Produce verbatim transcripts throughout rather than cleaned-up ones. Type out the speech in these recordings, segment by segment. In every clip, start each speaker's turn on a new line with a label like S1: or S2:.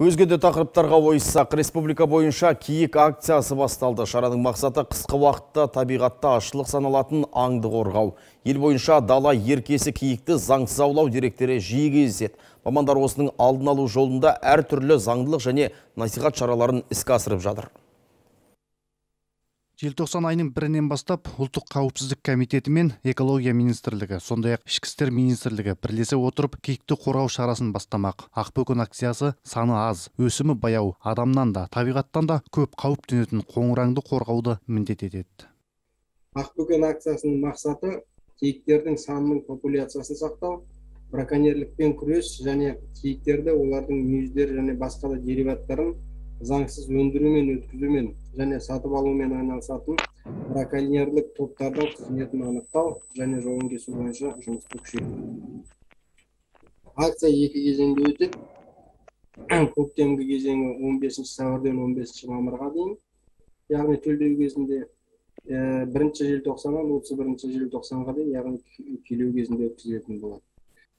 S1: Өзге де тақырыптарға ойыссақ, республика бойынша киік акциясы басталды. Шараның мақсаты қысқы уақытта табиғатта ашылық саналатын аңды қорғау. Ел бойынша дала еркесі киікті заңсыз аулау деректері жиі кездеседі. Мамандар осының алдын алу жолында әр түрлі заңдылық және насихат шараларын іске асырып жатыр.
S2: Желтоқсан айының бірінен бастап ұлттық қауіпсіздік комитеті мен экология министрлігі, сондай-ақ ішкі істер министрлігі бірлесе отырып киікті қорғау шарасын бастамақ. Ақбөкен акциясы саны аз, өсімі баяу, адамнан да, табиғаттан да көп қауіп төнетін қоңыраңды қорғауды міндет етеді.
S3: Ақбөкен акциясының мақсаты киіктердің санының популяциясын сақтау, браконьерлікпен күрес және киіктерді олардың мүйіздері және басқа да дериваттарын заңсыз өндірумен, өткізумен және сатып алумен айналысатын браконьерлік топтардың қызметін анықтау және жолын кесу бойынша жұмысты күшейту. Акция екі кезеңде өтеді. Көктемгі кезеңі он бесінші сәуірден он бесінші мамырға дейін, яғни төлдеу кезінде бірінші желтоқсаннан отыз бірінші желтоқсанға дейін, яғни күйлеу кезінде өткізілетін болады.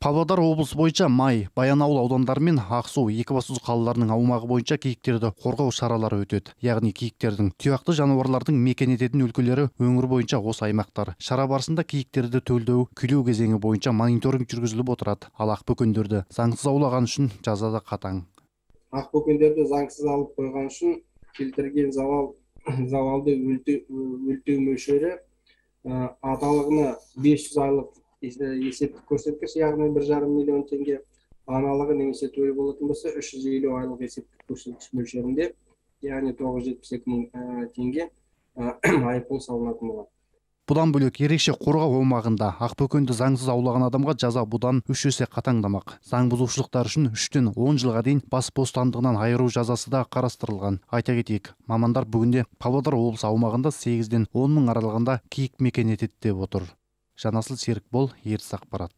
S2: Павлодар облысы бойынша Май, Баянауыл аудандары мен Ақсу, Екібастұз қалаларының аумағы бойынша киіктерді қорғау шаралары өтеді. Яғни киіктердің, тұяқты жануарлардың мекен ететін өлкелері өңір бойынша осы аймақтар. Шара барысында киіктерді төлдеу, күйлеу кезеңі бойынша мониторинг жүргізіліп отырады. Ал ақбөкендерді заңсыз аулаған үшін жаза да қатаң.
S3: Ақбөкендерді заңсыз алып қойған үшін келтірген залал залалды өлтеу мөлшері аталығына бес жүз айлық есептік көрсеткіш, яғни бір жарым миллион теңге, аналығы немесе төлі болатын болса үш жүз елу айлық есептік көрсеткіш мөлшерінде, яғни тоғыз жүз жетпіс екі мың теңге айыппұл салынатын болады.
S2: Бұдан бөлек ерекше қорғау аумағында ақбөкенді заңсыз аулаған адамға жаза бұдан үш есе қатаңдамақ. Заң бұзушылықтар үшін үштен он жылға дейін бас бостандығынан айыру жазасы да қарастырылған. Айта кетейік, мамандар бүгінде Павлодар облысы аумағында сегізден он мың аралығында киік мекен етеді деп отыр. Жанасыл Серікбол, Ертіс ақпарат.